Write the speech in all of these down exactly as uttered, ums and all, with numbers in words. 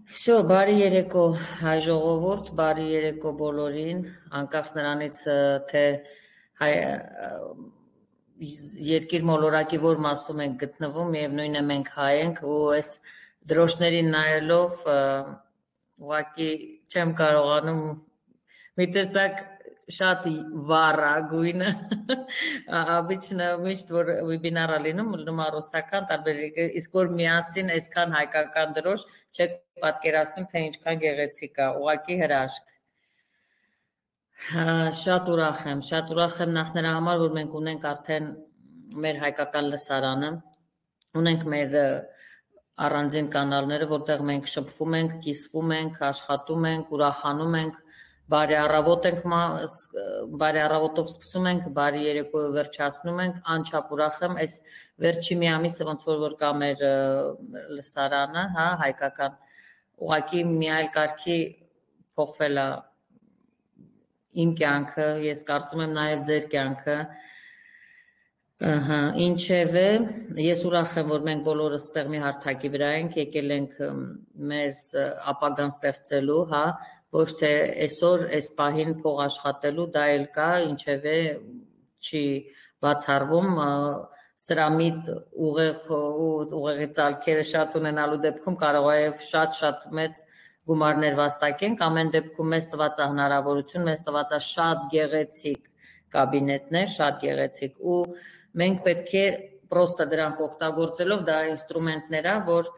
Всё, բարի երեկո հայ ժողովուրդ, բարի երեկո բոլորին, անկախ նրանից թե հայ երկիր մոլորակի որ մասում ենք գտնվում, միևնույն է մենք հայ ենք ու այս դրոշներին նայելով ուղղակի չեմ կարողանում մի տեսակ շատ վառ է գույնը, обычно միշտ որ վեբինարա լինում, լինում է ռուսական տարբեր, իսկ որ միասին այսքան հայկական դրոշ չեք պատկերացնում, թե ինչքան գեղեցիկ է, ուղղակի հրաշք։ Շատ ուրախ եմ, շատ ուրախ եմ նախ նրա համար, որ մենք ունենք արդեն մեր հայկական լսարանը, ունենք մեր առանձին կանալները, որտեղ մենք շփվում ենք, կիսվում ենք, աշխատում ենք, ուրախանում ենք, բարի առավոտ ենք, բարի առավոտով սկսում ենք, բարի երեկոյով վերջացնում ենք, անչափ ուրախ եմ, այս վերջի մի ամիսը ոնց որ որ կա մեր լսարանը, հա, հայկական, ուղղակի մի այլ կարգի փոխվել է իմ կյանքը, ես կարծում եմ նաև ձեր կյանքը, ահա, ինչևէ, ես ուրախ եմ, որ մենք բոլորս ստեղ մի հարթակի վրա ենք, եկել ենք մեզ ապագան ստեղծելու, հա, ոչ թե այսօր այս պահին փող աշխատելու, դա էլ կա, ինչևէ չի բացառվում, սրամիտ ուղեղ ու ուղեղի ծալքերը շատ ունենալու դեպքում կարող է շատ-շատ մեծ գումարներ վաստակենք, ամեն դեպքում մեզ տված է հնարավորություն, մեզ տված է շատ գեղեցիկ կաբինետներ, շատ գեղեցիկ ու մենք պետք է պրոստը դրանք օգտագործելով, դա ինստրումենտներ է, որ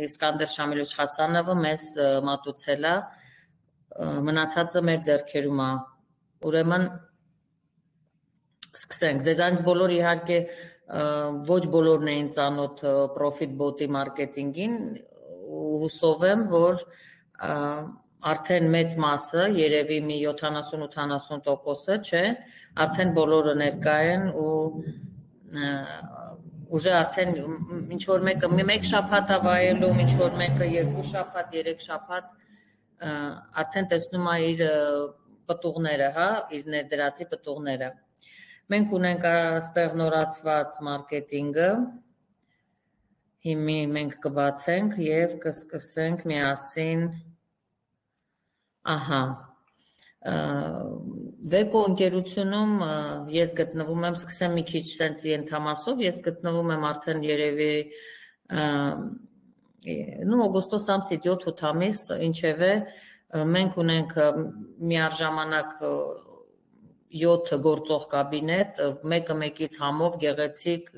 Իսկանդեր Շամիլովիչ Խասանովը մեզ մատուցել է, մնացածը մեր ձեռքերում է, ուրեմն սկսենք, ձեզանից բոլոր իհարկե ոչ բոլորն էին ծանոթ Profit Bot-ի մարքեթինգին, հուսով եմ, որ արդեն մեծ մասը, երևի մի յոթանասուն-ութանասուն տոկոսը, չէ, արդեն բոլորը ներկա են ու ուժը արդեն ինչ-որ մեկը մեկ շաբաթ է վայելում, ինչ-որ մեկը երկու շաբաթ, երեք շաբաթ, արդեն տեսնում է իր պտուղները, հա, իր ներդրածի պտուղները։ Մենք ունենք այստեղ նորացված մարքեթինգը, հիմի մենք կբացենք և կսկսենք միասին, ահա, Վեկո ընկերությունում ես գտնվում եմ, սկսեմ մի քիչ սենց ենթամասով, ես գտնվում եմ արդեն երևի օգոստոս ամսից յոթ-ութ ամիս, ինչևէ մենք ունենք միառժամանակ յոթ գործող կաբինետ, մեկը մեկից համով գեղեցիկ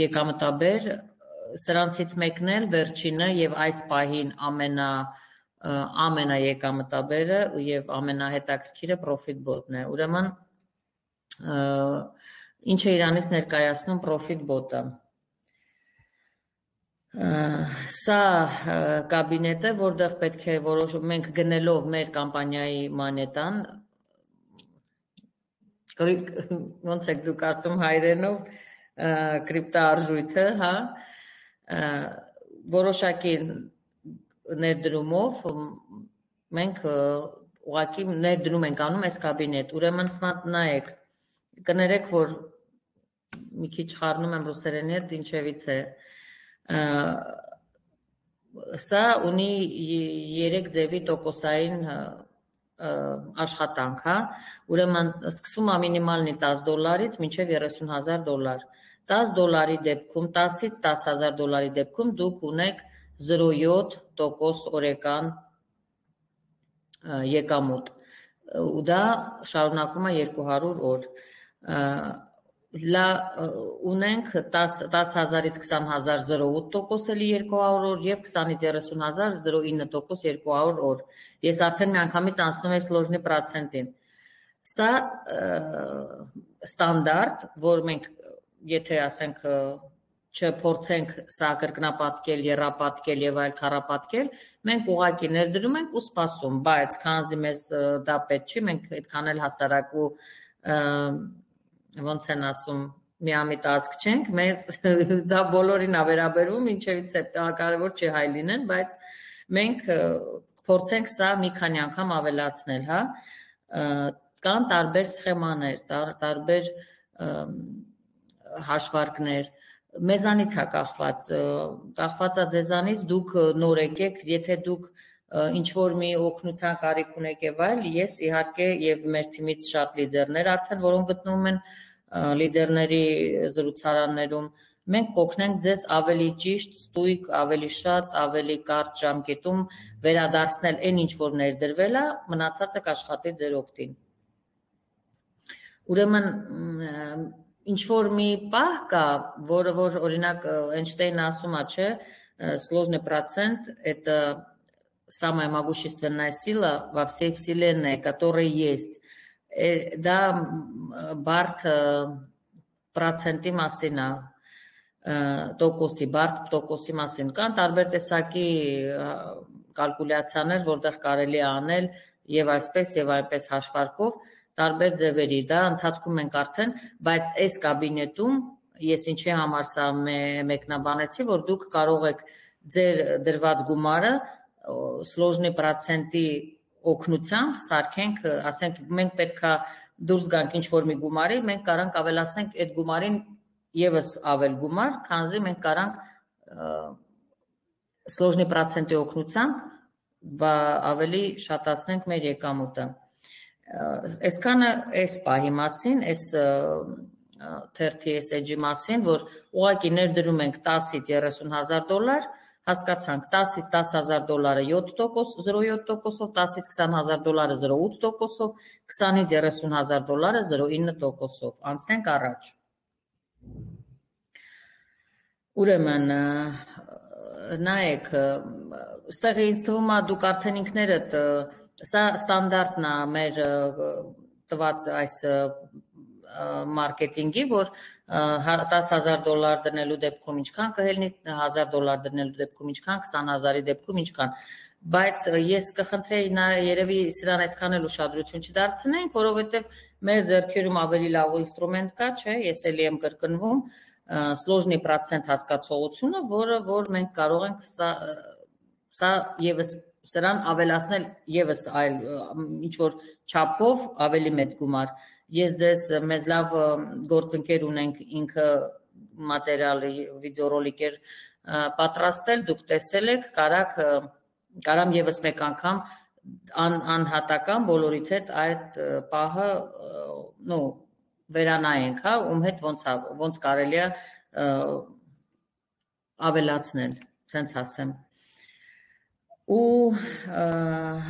եկամտաբեր, սրանցից մեկն էլ վերջինը և այս պահին ամենա ամենաեկամտաբերը և ամենահետաքրքիրը Profit Bot-ն է, ուրեմն ինչ է իրանից ներկայացնում Profit Bot-ը։ Սա կաբինետ է, որտեղ պետք է որոշում մենք գնելով մեր կամպանիայի մանետան, ոնց եք դուք ասում հայրենով, կրիպտոարժույթը, հա, որոշակի ներդրումով մենք ուղղակի ներդրում ենք անում այս կաբինետ, ուրեմն նայեք, կներեք, որ մի քիչ խառնում եմ ռուսերենի հետ, ինչևից է, սա ունի երեք ձևի տոկոսային աշխատանք, հա, ուրեմն սկսում է մինիմալնի տասը դոլարից մինչև երեսուն հազար դոլար, տասը դոլարի դեպքում, տասից տասը հազար դոլարի դեպքում դուք ունեք զրո փուգ յոթ տոկոս օրական եկամուտ, ու դա շարունակում է երկու հարյուր օր, ունենք տասը հազարից քսան հազար զրո ութ տոկոս էլի երկու հարյուր օր և քսանից երեսուն հազար զրո ինը տոկոս երկու հարյուր օր, ես արդեն միանգամից անցնում եմ սլոժնի պրոցենտին, սա ստանդարտ, որ մենք եթե ասենք չփորձենք սա կրկնապատկել, եռապատկել և այլ քառապատկել, մենք ուղղակի ներդրում ենք ու սպասում, բայց քանզի մեզ դա պետք չի, մենք այդքան էլ հասարակ ու ոնց են ասում, միամիտ ազգ չենք, մեզ դա բոլորին է վերաբերվում, ինչևից է կարևոր չի հայ լինեն, բայց մենք փորձենք սա մի քանի անգամ ավելացնել, հա, կան տարբեր սխեմաներ, տարբեր հաշվարկներ, մեզանից է կախված, կախված է ձեզանից, դուք նոր եկեք, եթե դուք ինչ-որ մի օգնության կարիք ունեք եւ այլ, ես իհարկե եւ մեր թիմից շատ լիդերներ արդեն, որոնք գտնվում են լիդերների զրուցարաններում, մենք կօգնենք ձեզ ավելի ճիշտ, ստույգ, ավելի շատ, ավելի կարճ ժամկետում վերադարձնել այն ինչ որ ներդրվել է, մնացածը կաշխատի ձեր օգտին։ Ուրեմն ինչ որ մի պահ կա, որը որ օրինակ Էյնշտեյնը ասում է, չէ, сложный процент это самая могущественная сила во всей вселенной, которая есть. Դա բարդ պրոցենտի մասին է, տոկոսի, բարդ տոկոսի մասին կան տարբեր տեսակի կալկուլյացիաներ, որտեղ կարելի է անել եւ այսպես եւ այնպես հաշվարկով տարբեր ձևերի, դա ընթացքում ենք արդեն, բայց այս կաբինետում ես ինչի համար սա մեկնաբանեցի, որ դուք կարող եք ձեր դրված գումարը сложный процент-ի օգնությամբ սարքենք, ասենք մենք պետքա դուրս գանք ինչ-որ մի գումարի, մենք կարանք ավելացնենք այդ գումարին եւս ավել գումար, քանզի մենք կարանք сложный процент-ի օգնությամբ ավելի շատացնենք մեր եկամուտը։ Այսքանը այս պահի մասին, այս թերթի այս էջի մասին, որ ուղղակի ներդրում ենք տասից երեսուն հազար դոլար, հասկացանք տասից տասը հազար դոլարը յոթ տոկոս, զրո յոթ տոկոսով, տասից քսան հազար դոլարը զրո ութ տոկոսով, քսանից երեսուն հազար դոլարը զրո ինը տոկոսով, անցնենք առաջ։ Ուրեմն, նայեք, ստեղ ինձ թվում է դուք արդեն ինքներդ, սա ստանդարտն է մեր տված այս մարքեթինգի, որ տասը հազար դոլար դնելու դեպքում ինչքան կհելնի, հազար դոլար դնելու դեպքում ինչքան, քսան հազարի դեպքում ինչքան, բայց ես կխնդրեի երևի սրան այսքան էլ ուշադրություն չդարձնենք, որովհետև մեր ձեռքերում ավելի լավ ինստրումենտ կա, չէ, ես էլի եմ կրկնվում, сложный процент հասկացողությունը, որը որ մենք կարող ենք սա եւս սրան ավելացնել եւս այլ ինչ որ չափով ավելի մեծ գումար։ Ես դες մեզ լավ գործընկեր ունենք, ինքը մատերիալ վիդեորոլիկ էր պատրաստել, դուք տեսել եք, կարաք կարամ եւս մեկ անգամ անհատական բոլորիդ հետ այդ պահը, նո վերանայենք, հա, ում հետ ոնց ոնց կարելի է ավելացնել, ցենց ասեմ։ Ու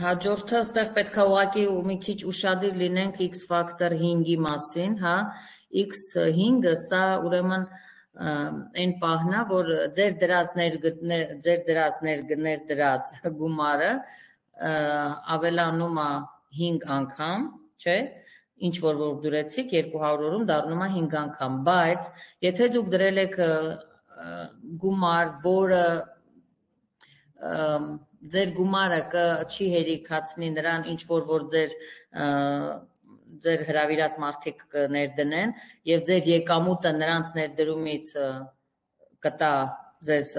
հաջորդը ստեղ պետք է ուղղակի մի քիչ ուշադիր լինենք X factor հինգի մասին, հա, X հինգը սա ուրեմն այն պահն է, որ ձեր դրած ձեր դրած ներգներ դրած գումարը ավելանում է հինգ անգամ, չէ, ինչ որ որ դրեցիք երկու հարյուր օրում դառնում է հինգ անգամ, բայց եթե դուք դրել եք գումար, որը ձեր գումարը չի հերիքացնի նրան ինչ որ որ ձեր ձեր հրավիրած մարդիկ կներդնեն եւ ձեր եկամուտը նրանց ներդրումից կտա ձեզ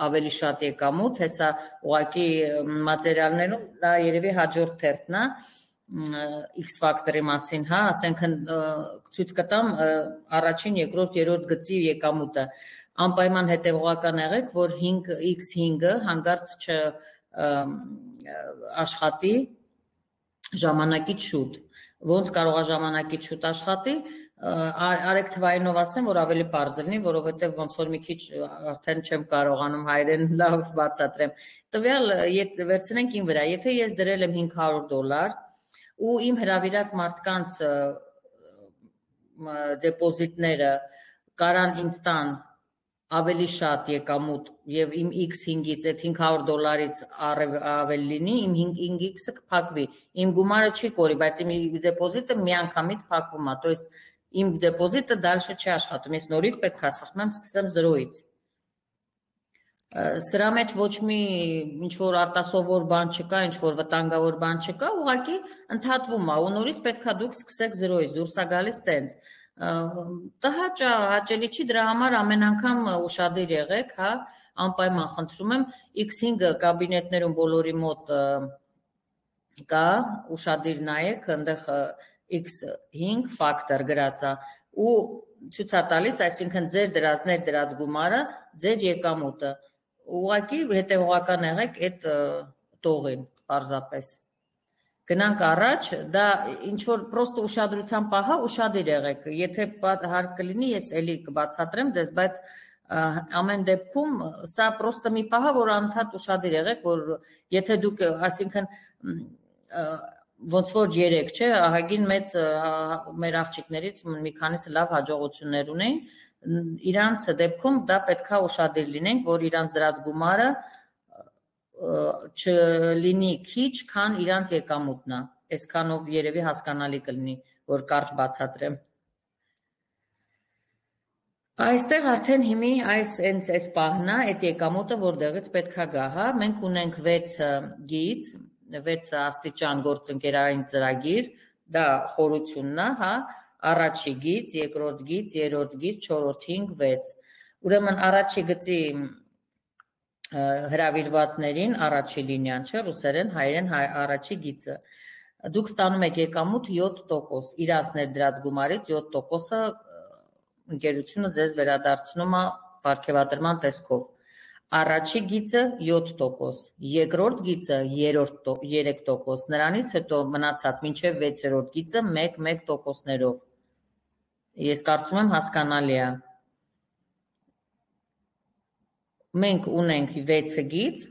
ավելի շատ եկամուտ, հեսա ուղղակի մատերիալներում դա երևի հաջորդ թերթն է X factor-ի մասին, հա, ասենք ցույց կտամ առաջին, երկրորդ, երրորդ գծի եկամուտը։ Անպայման հետևողական եղեք, որ X հինգը հանգարց չաշխատի ժամանակից շուտ։ Ոնց կարող է ժամանակից շուտ աշխատի, արեք թվայինով ասեմ, որ ավելի պարզ լինի, որովհետև ոնց որ մի քիչ արդեն չեմ կարողանում հայերեն լավ բացատրեմ։ Տվյալ վերցնենք իմ վրա, եթե ես դրել եմ հինգ հարյուր դոլար ու իմ հրավիրած մարդկանց դեպոզիտները կարան ինձ տան ավելի շատ եկամուտ եւ իմ X հինգից այդ հինգ հարյուր դոլարից ավել լինի, իմ հինգ X-ը կփակվի, իմ գումարը չի կորի, բայց իմ դեպոզիտը միանգամից փակվում է, то есть իմ դեպոզիտը դալշը չի աշխատում, ես նորից պետք է սխմեմ, սկսեմ զրոյից։ Սրա մեջ ոչ մի ինչ որ արտասովոր բան չկա, ինչ որ վտանգավոր բան չկա, ուղղակի ընդհատվում է, ու նորից պետք է դուք սկսեք զրոյից, դուրս է գալիս տենց։ Տհաճ է, հաճելի չի, դրա համար ամեն անգամ ուշադիր եղեք, հա, անպայման խնդրում եմ, X հինգը կաբինետներում բոլորի մոտ կա, ուշադիր նայեք, այնտեղ X հինգ factor գրած է, ու ցույց է տալիս, այսինքն ձեր դրած ներդրած գումարը, ձեր եկամուտը։ Ուղղակի հետևողական եղեք այդ տողին, պարզապես։ Գնանք առաջ, դա ինչ որ պրոստը ուշադրության պահա, ուշադիր եղեք։ Եթե հարկ կլինի, ես էլի կբացատրեմ ձեզ, բայց ամեն դեպքում սա պրոստը մի պահա, որ անդադ ուշադիր եղեք, որ եթե դուք, այսինքն ոնց որ երեք, չէ, ահագին մեծ մեր աղջիկներից մի քանիսը լավ հաջողություններ ունեն, իրանց դեպքում դա պետքա ուշադիր լինենք, որ իրանց դրած գումարը չլինի քիչ, քան իրանց եկամուտն է, այսքանով երևի հասկանալի կլինի, որ կարճ բացատրեմ։ Այստեղ արդեն հիմի այս այս պահն է, այդ եկամուտը որտեղից պետքա գա, հա, մենք ունենք վեց գիծ, վեց աստիճան գործընկերային ծրագիր, դա խորությունն է, հա, առաջի գիծ, երկրորդ գիծ, երրորդ գիծ, չորրորդ, հինգ, վեց։ Ուրեմն առաջի գծի հրավիրվածներին առաջի լինիան, չէ, ռուսերեն, հայերեն առաջի գիծը։ Դուք ստանում եք եկամուտ յոթ տոկոս, իրանց ներդրած գումարից յոթ տոկոսը ընկերությունը ձեզ վերադարձնում է պարգևատրման տեսքով։ Առաջի գիծը յոթ տոկոս, երկրորդ գիծը երեք տոկոս, նրանից հետո մնացած մինչև վեցերորդ գիծը մեկ տոկոսներով։ Ես կարծում եմ հասկանալի է։ Մենք ունենք վեց գիծ,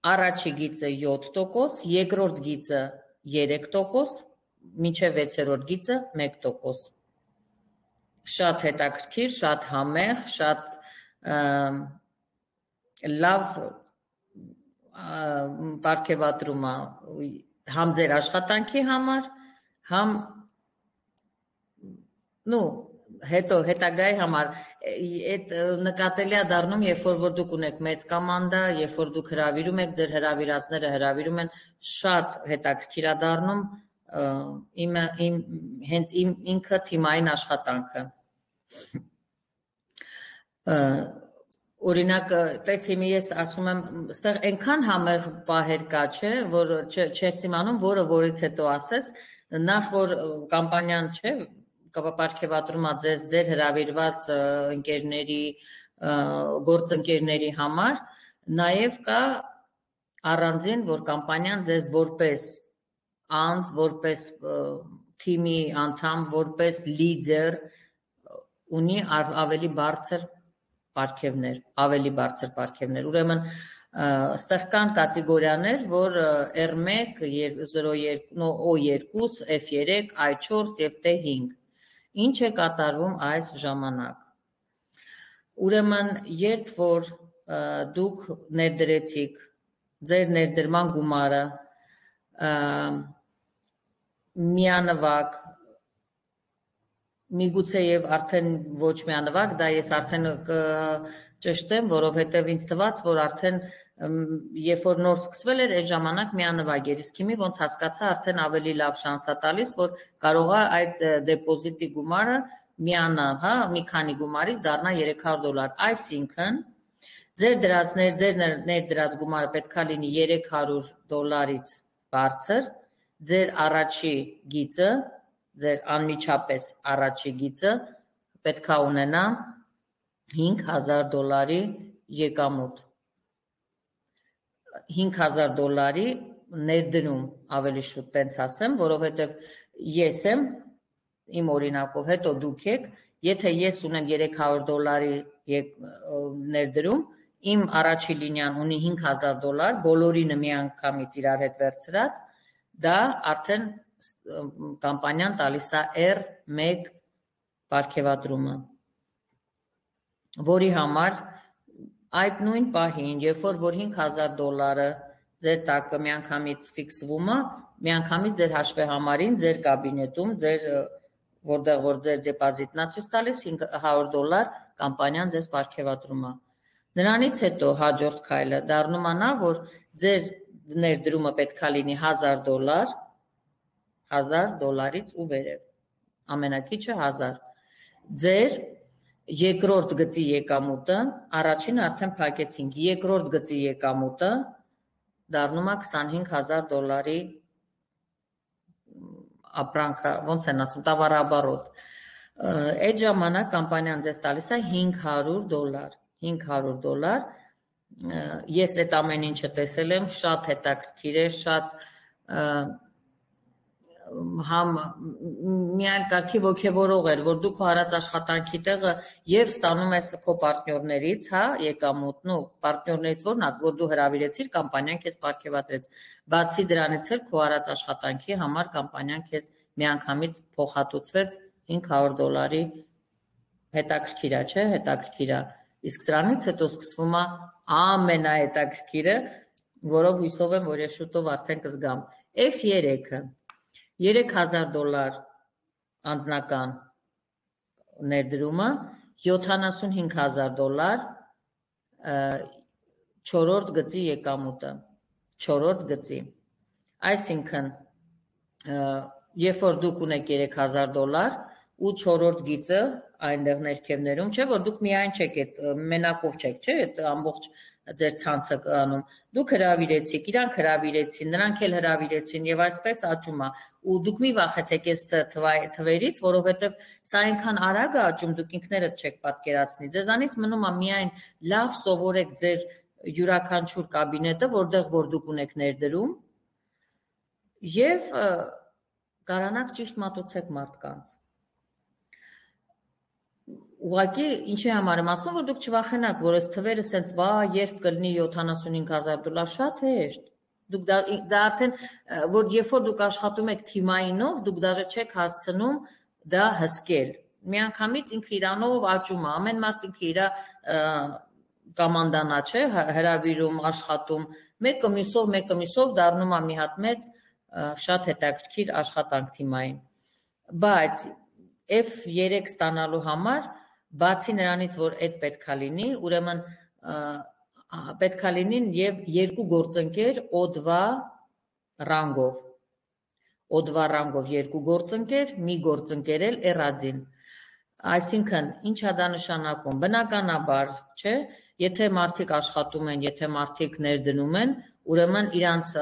առաջի գիծը յոթ տոկոս, երկրորդ գիծը երեք տոկոս, մինչև վեցերորդ գիծը մեկ տոկոս։ Շատ հետաքրքիր, շատ համեղ, շատ լավ պարգևատրում է համ ձեր աշխատանքի համար, համ նու հետո հետագայի համար այդ նկատելի է դառնում, երբ որ դուք ունեք մեծ կոմանդա, երբ որ դուք հրավիրում եք, ձեր հրավիրածները հրավիրում են, շատ հետաքրքիր է դառնում իմը իմ հենց իմ ինքը թիմային աշխատանքը։ Օրինակ, պես հիմի ես ասում եմ, ստեղ այնքան համեղ պահեր կա, չէ, որ չես իմանում, որը որից հետո ասես, նախ որ կամպանիան, չէ, պարգևատրում է ձեզ ձեր հրավիրված ընկերների, գործընկերների համար, նաև կա առանձին, որ կամպանիան ձեզ որպես անձ, որպես թիմի անդամ, որպես լիդեր ունի ավելի բարձր պարգևներ, ավելի բարձր պարգևներ։ Ուրեմն ստեղ կան կատեգորիաներ, որ R մեկ, zero երկու, O երկու, F երեք, I չորս եւ T հինգ։ Ինչ է կատարվում այս ժամանակ։ Ուրեմն երբ որ դուք ներդրեցիք ձեր ներդրման գումարը միանվագ, միգուցե եւ արդեն ոչ միանվագ, դա ես արդեն կճշտեմ, որովհետեւ ինձ թվաց, որ արդեն երբ որ նոր սկսվել էր, այդ ժամանակ միանվագ էր, իսկ հիմի ոնց հասկացա, արդեն ավելի լավ շանս է տալիս, որ կարող է այդ դեպոզիտի գումարը միանա, հա, մի քանի գումարից դառնա երեք հարյուր դոլար, այսինքն ձեր դրածներ, ձեր ներդրած գումարը պետքա լինի երեք հարյուր դոլարից բարձր, ձեր առաջի գիծը, ձեր անմիջապես առաջի գիծը պետքա ունենա հինգ հազար դոլարի եկամուտ։ հինգ հազար դոլարի ներդնում, ավելի շուտ տենց ասեմ, որովհետև ես եմ իմ օրինակով, հետո դուք եք, եթե ես ունեմ երեք հարյուր դոլարի ներդրում, իմ առաջի լինիան ունի հինգ հազար դոլար, բոլորինը միանգամից իրար հետ վերցրած, դա արդեն կամպանիան տալիս է R մեկ պարգևատրումը, որի համար այդ նույն պահին, երբ որ հինգ հազար դոլարը ձեր տակը միանգամից ֆիքսվում է, միանգամից ձեր հաշվեհամարին, ձեր կաբինետում, ձեր որտեղ որ ձեր դեպոզիտն է ցույց տալիս հինգ հարյուր դոլար կամպանիան ձեզ պարգևատրում է։ Նրանից հետո հաջորդ քայլը դառնում է նա, որ ձեր ներդրումը պետքա լինի հազար դոլար, հազար դոլարից ու վերև, ամենակիչը հազար։ Ձեր երկրորդ գծի եկամուտը, առաջինը արդեն փակեցինք, երկրորդ գծի եկամուտը դառնում է քսանհինգ հազար դոլարի ապրանքը, ոնց են ասում, տավարաբարոտ։ Այդ ժամանակ կամպանիան ձեզ տալիս է հինգ հարյուր դոլար, հինգ հարյուր դոլար, ես այդ ամեն ինչը տեսել եմ, շատ հետաքրքիր է, շատ համ միայն կարգի ոգևորող էր, որ դու քո արած աշխատանքի տեղը եւ ստանում ես քո պարտներներից, հա, եկամուտն ու պարտներներից որն է, որ դու հրավիրեցիր, կամպանիան քեզ պարգևատրեց։ Բացի դրանից էլ քո արած աշխատանքի համար կամպանիան քեզ միանգամից փոխհատուցվեց հինգ հարյուր դոլարի, հետաքրքիր է, չէ՞, հետաքրքիր է։ Իսկ սրանից հետո սկսվում է ամենահետաքրքիրը, որով հույսով եմ, որ ես շուտով արդեն կզգամ։ F երեքը երեք հազար դոլար անձնական ներդրումը, յոթանասունհինգ հազար դոլար չորրորդ գծի եկամուտը, չորրորդ գծի։ Այսինքն, երբ որ դուք ունեք երեք հազար դոլար ու չորրորդ գիծը այնտեղ ներքևներում, չէ, որ դուք միայն չեք, այդ մենակով չեք, չէ, այդ ամբողջ ձեր ցանցը անում, դուք հրավիրեցիք, իրանք հրավիրեցին, նրանք էլ հրավիրեցին եւ այսպես աճում է, ու դուք մի վախեցեք այս թվերից, որովհետեւ սա այնքան արագ է աճում, դուք ինքներդ չեք պատկերացնի, ձեզանից մնում է միայն լավ սովորեք ձեր յուրաքանչյուր կաբինետը, որտեղ որ դուք ունեք ներդրում եւ կարանաք ճիշտ մատուցեք մարդկանց։ Ուղղակի ինչի համար եմ ասում, որ դուք չվախենաք, որ այս թվերը սենց բա երբ կլինի յոթանասունհինգ հազար դոլար, շատ հեշտ։ Դուք դա արդեն, որ երբ որ դուք աշխատում եք թիմայինով, դուք դաժե չեք հասցնում դա հսկել։ Միանգամից ինքը իրանով աճում է, ամեն մարդ ինքը իր կոմանդանա, չէ, հրավիրում, աշխատում, մեկը մյուսով, մեկը մյուսով դառնում է մի հատ մեծ շատ հետաքրքիր աշխատանք թիմային։ Բայց F երեք ստանալու համար, բացի նրանից, որ այդ պետքա լինի, ուրեմն պետքա լինին եւ երկու գործընկեր օդվա ռանգով։ Օդվա ռանգով երկու գործընկեր, մի գործընկեր էլ էրադին։ Այսինքն, ինչ է դա նշանակում, բնականաբար, չէ, եթե մարդիկ աշխատում են, եթե մարդիկ ներդնում են, ուրեմն իրանց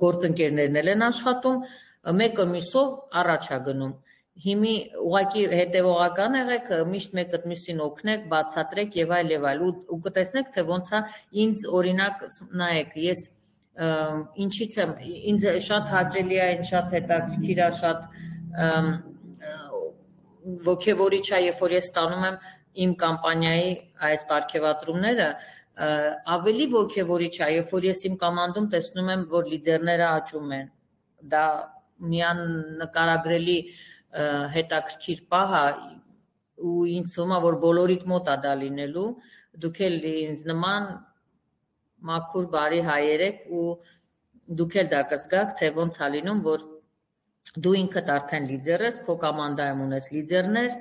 գործընկերներն են աշխատում, մեկը մյուսով առաջ է գնում։ Հիմի ուղղակի հետևողական եղեք, միշտ մեկը մյուսին օգնեք, բացատրեք եւ այլ եւ այլ ու կտեսնեք, թե ոնց է ինձ օրինակ նայեք, ես ինչից եմ, ինձ շատ հաճելի է, շատ հետաքրքիր է, շատ ոգևորիչ է, երբ որ ես ստանում եմ իմ կամպանիայի այս պարգևատրումները, ավելի ոգևորիչ է, երբ որ ես իմ կոմանդում տեսնում եմ, որ լիդերները աճում են, դա միանկարագրելի հետաքրքիր պահ է ու ինձ թվում է, որ բոլորիդ մոտ է դա լինելու, դուք էլ ինձ նման մաքուր բարի հայեր եք ու դուք էլ դա կզգաք, թե ոնց է լինում, որ դու ինքդ արդեն լիդեր ես, քո կոմանդայում ունես լիդերներ,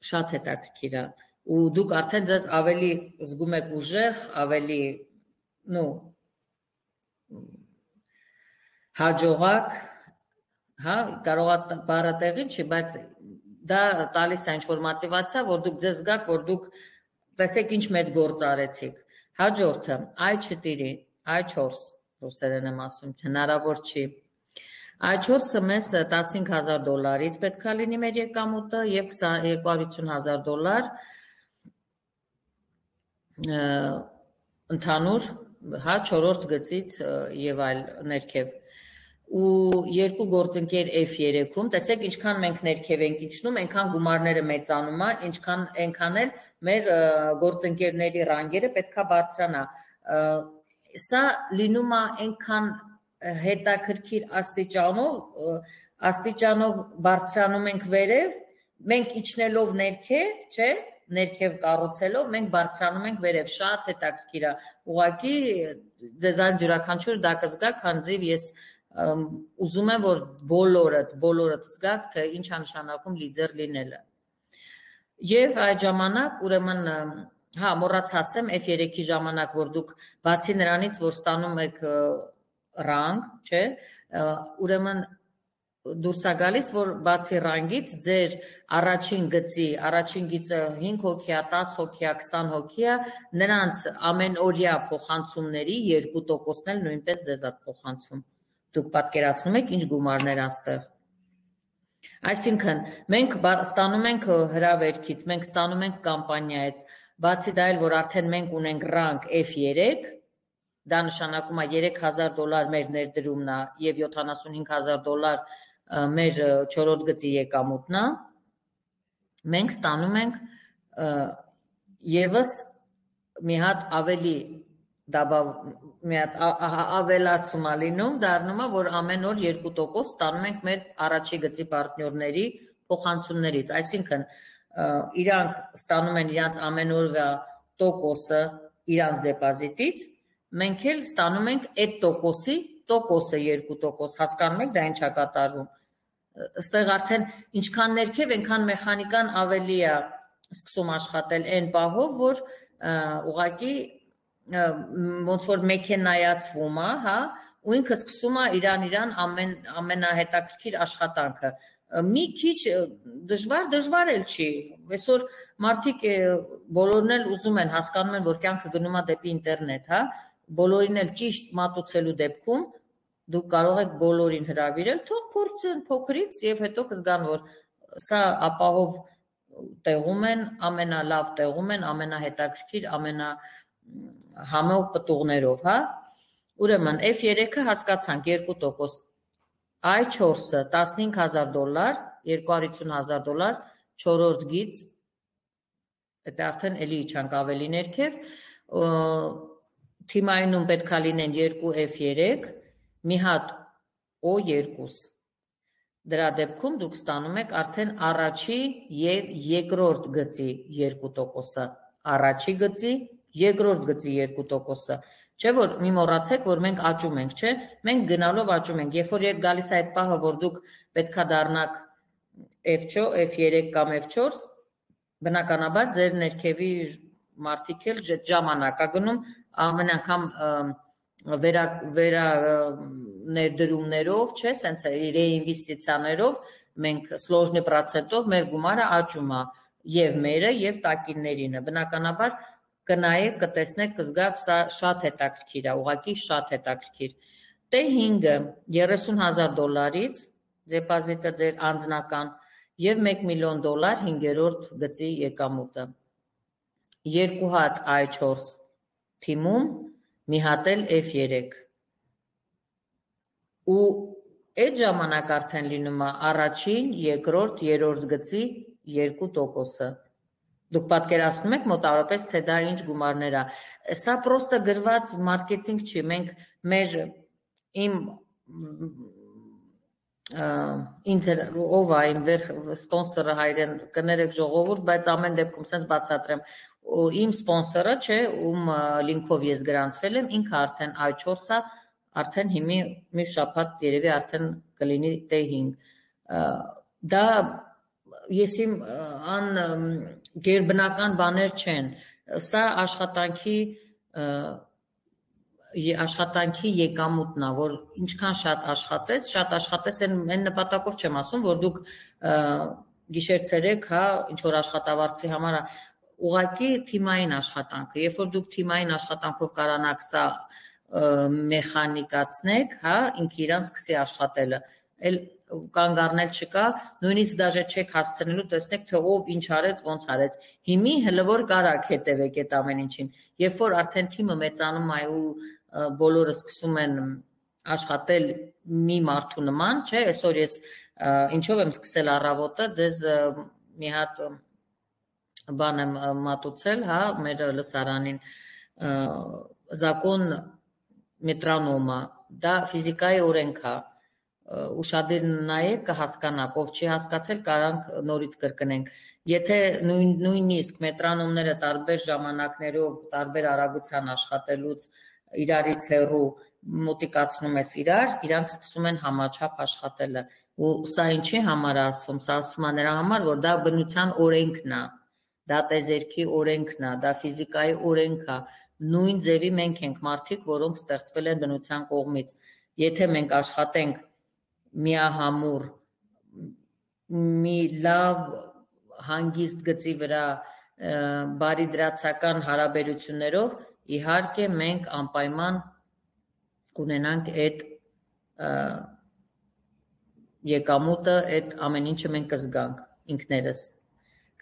շատ հետաքրքիր է ու դուք արդեն ձեզ ավելի զգում եք ուժեղ, ավելի, նու, հաջողակ, հա, կարող է բառը տեղին չի, բայց դա տալիս է ինչ-որ մոտիվացիա, որ դուք ձեզ զգաք, որ դուք տեսեք ինչ մեծ գործ արեցիք։ Հաջորդը, այ չորս, այ չորս, ռուսերեն եմ ասում, հնարավոր չի։ Այ չորսը մեզ տասնհինգ հազար դոլարից պետք է լինի մեր եկամուտը եւ երկու հարյուր ութ հազար դոլար ընդհանուր, հա, չորրորդ գծից եւ այլ ներքև։ Ու երկու գործընկեր F երեքում, տեսեք ինչքան մենք ներքև ենք իջնում, այնքան գումարները մեծանում է, ինչքան այնքան էլ մեր գործընկերների ռանգերը պետքա բարձրանա։ Սա լինում է այնքան հետաքրքիր աստիճանով, աստիճանով բարձրանում ենք վերև, մենք իջնելով ներքև, չէ, ներքև կառուցելով, մենք բարձրանում ենք վերև, շատ հետաքրքիր է։ Ուղղակի ձեզան յուրաքանչյուր դա կզգաք, քանզի ես ուզում եմ, որ բոլորդ, բոլորդ զգաք, թե ինչ է նշանակում լիդեր լինելը։ Եվ այդ ժամանակ, ուրեմն, հա, մոռաց ասեմ, F երեքի ժամանակ, որ դուք բացի նրանից, որ ստանում եք ռանգ, չէ, ուրեմն դուրս է գալիս, որ բացի ռանգից ձեր առաջին գծի, առաջին գիծը հինգ հոգի է, տասը հոգի է, քսան հոգի է, նրանց ամենօրյա փոխանցումների երկու տոկոսն էլ նույնպես ձեզ է փոխանցում։ Դուք պատկերացնում եք ինչ գումարներ աստեղ։ Այսինքն, մենք ստանում ենք հրավերքից, մենք ստանում ենք կամպանիայից, բացի դա էլ, որ արդեն մենք ունենք rank F three, դա նշանակում է երեք հազար դոլար մեր ներդրումն է եւ յոթանասունհինգ հազար դոլար մեր չորրորդ գծի եկամուտն է, մենք ստանում ենք եւս մի հատ ավելի մի հատ ավելացում է լինում, դառնում է, որ ամեն օր երկու տոկոս ստանում ենք մեր առաջի գծի պարտներների փոխանցումներից, այսինքն իրանք ստանում են իրանց ամեն օրվա տոկոսը իրանց դեպոզիտից, մենք էլ ստանում ենք այդ տոկոսի տոկոսը երկու տոկոս, հասկանում եք դա ինչ է կատարվում, այստեղ արդեն ինչքան ներքև, այնքան մեխանիկան ավելի է սկսում աշխատել այն պահով, որ ուղղակի ոնց որ մեքենայացվում է, հա, ու ինքը սկսում է իրան իրան ամեն ամենահետաքրքիր աշխատանքը։ Մի քիչ դժվար, դժվար էլ չի։ Այսօր մարդիկ բոլորն էլ ուզում են, հասկանում են, որ կյանքը գնում է դեպի ինտերնետ, հա, բոլորին էլ ճիշտ մատուցելու դեպքում դուք կարող եք բոլորին հրավիրել, թող փորձեն փոքրից եւ հետո կզգան, որ սա ապահով տեղում են, ամենալավ տեղում են, ամենահետաքրքիր, ամենա համով պտուղներով, հա։ Ուրեմն F three-ը հասկացանք երկու տոկոս, I four-ը տասնհինգ հազար դոլար, երկու հարյուր հիսուն հազար դոլար, չորրորդ գիծ, դա արդեն էլի իջանք ավելի ներքև, թիմայնում պետք է լինեն երկու F three, մի հատ O two, դրա դեպքում դուք ստանում եք արդեն առաջի եւ երկրորդ գծի երկու տոկոսը, առաջի գծի, երկրորդ գծի երկու տոկոսը, չէ որ մի մոռացեք, որ մենք աճում ենք, չէ, մենք գնալով աճում ենք, երբ որ երբ գալիս է այդ պահը, որ դուք պետքա դառնաք F three կամ F four, բնականաբար ձեր ներքևի մարդիկ էլ ժամանակ է գնում, ամեն անգամ վերա վերա ներդրումներով, չէ, սենց ռեինվեստիցիաներով մենք սլոժնի պրոցենտով մեր գումարը աճում է եւ մերը եւ տակիններինը, բնականաբար կնայեք, կտեսնեք, կզգաք, սա շատ հետաքրքիր է, ուղղակի շատ հետաքրքիր։ T five-ը երեսուն հազար դոլարից, դեպոզիտը ձեր անձնական եւ մեկ միլիոն դոլար հինգերորդ գծի եկամուտը։ Երկու հատ I four թիմում, մի հատ էլ F three։ Ու այդ ժամանակ արդեն լինում է առաջին, երկրորդ, երրորդ գծի երկու տոկոսը։ Դուք պատկերացնում եք մոտավորապես, թե դա ինչ գումարներ է։ Սա պրոստը գրված մարքեթինգ չի, մենք մեր իմ ինձ ով է իմ վեր սպոնսորը հայրեն կներեք ժողովուրդ, բայց ամեն դեպքում սենց բացատրեմ, իմ սպոնսորը, չէ, ում լինքով ես գրանցվել եմ, ինքը արդեն I four-ը, արդեն հիմի մի շաբաթ երևի արդեն կլինի T five։ Դա ես իմ ան գերբնական բաներ չեն, սա աշխատանքի աշխատանքի եկամուտն է, որ ինչքան շատ աշխատես, շատ աշխատես այն նպատակով չեմ ասում, որ դուք գիշեր-ցերեկ, հա, ինչ որ աշխատավարձի համար ուղղակի թիմային աշխատանքը, երբ որ դուք թիմային աշխատանքով կարողանաք սա մեխանիկացնեք, հա, ինքը իրան սկսի աշխատելը, էլ կանգ առնել չկա, նույնիսկ դաժե չեք հասցնելու, տեսնեք, թե ով ինչ արեց, ոնց արեց։ Հիմի հələ որ կարաք հետևեք այդ ամեն ինչին։ Երբ որ արդեն թիմը մեծանում է ու բոլորը սկսում են աշխատել մի մարդու նման, չէ, այսօր ես ինչով եմ սկսել առավոտը, ձեզ մի հատ բան եմ մատուցել, հա, մեր լսարանին, Zakon Metronoma, դա ֆիզիկայի օրենք է, ուշադիր նայեք կհասկանաք, ով չի հասկացել, կարանք նորից կրկնենք։ Եթե նույնիսկ մետրոնոմները տարբեր ժամանակներով, տարբեր արագության աշխատելուց իրարից հեռու մոտիկացնում ես իրար, իրանք սկսում են համաչափ աշխատելը։ Ու սա ինչի համար է ասվում, սա ասվում է նրա համար, որ դա բնության օրենքն է, դա տեզերքի օրենքն է, դա ֆիզիկայի օրենք է, նույն ձևի մենք ենք մարդիկ, որոնք ստեղծվել են բնության կողմից։ Եթե մենք աշխատենք միահամուռ, մի լավ հանգիստ գծի վրա բարիդրացական հարաբերություններով, իհարկե մենք անպայման կունենանք այդ եկամուտը այդ ամեն ինչը մենք կզգանք ինքներս։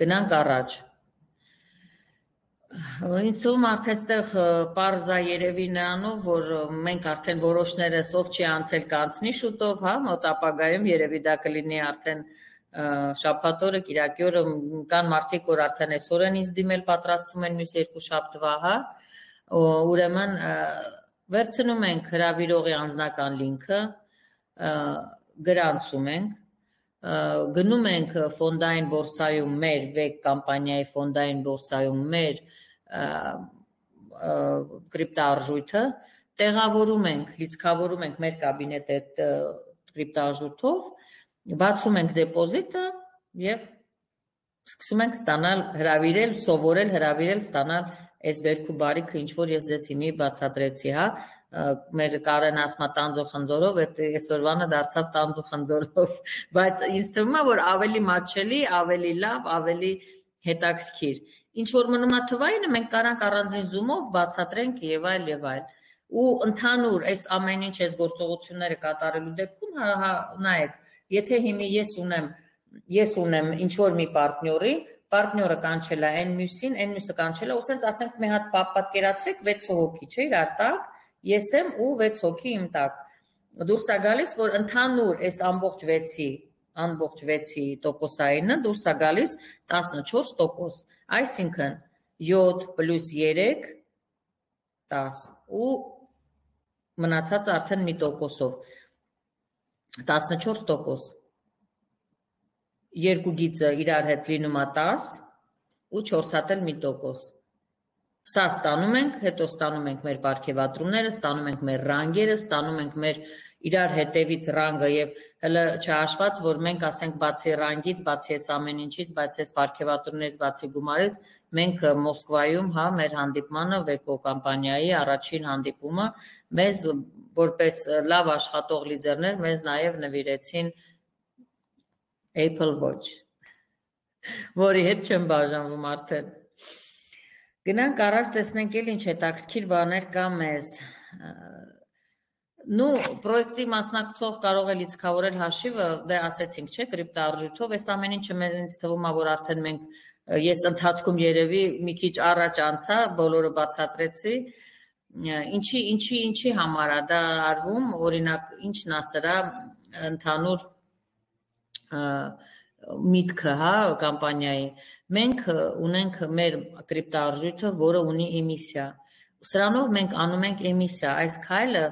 Գնանք առաջ։ Ինձ թվում արդեն այստեղ պարզա երևի նրանով, որ մենք արդեն որոշներս ով չի անցել կանցնի շուտով, հա, մոտ ապագայում երևի դա կլինի արդեն շաբաթ օրը, կիրակի օրը, կան մարդիկ, որ արդեն այսօր են ինձ դիմել, պատրաստվում են մյուս երկու շաբթվա, հա, ուրեմն վերցնում ենք հրավիրողի անձնական լինքը, գրանցում ենք, գնում ենք ֆոնդային բորսայում մեր վեկ կամպանիայի ֆոնդային բորսայում մեր կրիպտոարժույթը, տեղավորում ենք, լիցքավորում ենք մեր կաբինետ այդ կրիպտոարժույթով, բացում ենք դեպոզիտը և սկսում ենք ստանալ, հրավիրել, սովորել, հրավիրել, ստանալ այս վերքու բարիքը, ինչ որ ես դες հիմի բացատրեցի, հա, մեր Կարեն ասմա տանձո խնձորով, այդ այսօրվանը դարձավ տանձո խնձորով, բայց ինձ թվում է, որ ավելի մատչելի, ավելի լավ, ավելի հետաքրքիր։ Ինչ որ մնում է թվայինը, մենք կարանք առանձին զումով բացատրենք եւ այլ եւ այլ։ Ու ընդհանուր այս ամեն ինչ այս գործողությունները կատարելու դեպքում, հա, նայեք, եթե հիմի ես ունեմ, ես ունեմ ինչ որ մի պարտնյորի, պարտնյորը կանչել է այն մյուսին, այն մյուսը կանչել է, ու սենց ասենք մի հատ պատկերացրեք վեց հոգի, չէ՞, իրար տակ, ես եմ ու վեց հոգի իմ տակ։ Դուրս է գալիս, որ ընդհանուր այս ամբողջ վեցի, ամբողջ վեցի տոկոսայինը դուրս է գալիս տասնչորս տոկոս, այսինքն յոթ պլյուս երեք տաս ու մնացած արդեն մի տոկոսով տասնչորս տոկոս, երկու գիծը իրար հետ լինում է տաս ու չորս հատ էլ մի տոկոս։ Սա ստանում ենք, հետո ստանում ենք մեր պարգևատրումները, ստանում ենք մեր ռանգերը, ստանում ենք մեր իրար հետևից ռանգը եւ հələ չհաշված, որ մենք ասենք բացի ռանգից, բացի այս ամեն ինչից, բացի այս պարգևատրումներից, բացի գումարից, մենք Մոսկվայում, հա, մեր հանդիպմանը վեկո կամպանիայի առաջին հանդիպումը մեզ որպես լավ աշխատող լիդերներ մեզ նաեւ նվիրեցին Apple Watch, որի հետ չեմ բաժանվում արդեն։ Գնանք առաջ տեսնենք էլ ինչ հետաքրքիր բաներ կա մեզ։ Նու պրոյեկտի մասնակցող կարող է լիցքավորել հաշիվը, դե ասեցինք, չէ, կրիպտոարժույթով, այս ամեն ինչը մեզ ինձ թվում է, որ արդեն մենք ես ընթացքում երևի մի քիչ առաջ անցա, բոլորը բացատրեցի, ինչի, ինչի, ինչի համար է դա արվում, օրինակ ինչն է սրա ընդհանուր միտքը, հա, կամպանիայի։ Մենք ունենք մեր կրիպտոարժույթը, որը ունի էմիսիա։ Սրանով մենք անում ենք էմիսիա, այս քայլը